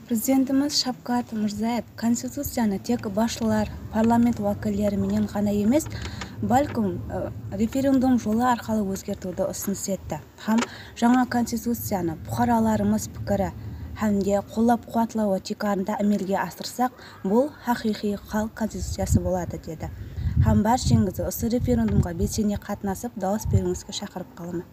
Президентimiz Шавкат Мирзиёев Конституцияны тек башчылар, парламент вакилдери менен гана эмес, балким референдум жолу аркылуу өзгөртүүнү ұсыныс этти. Һәм жаңа Конституцияны бухараларыбыз пикири hamda qo'llab-quvvatlash cheklarida amalga oshirsak, bu haqiqiy xalq konstitutsiyasi bo'ladi dedi. Ham barchangizni o'sha referendumga belсене qatnashib, da'vos beringizga chaqirib qolaman.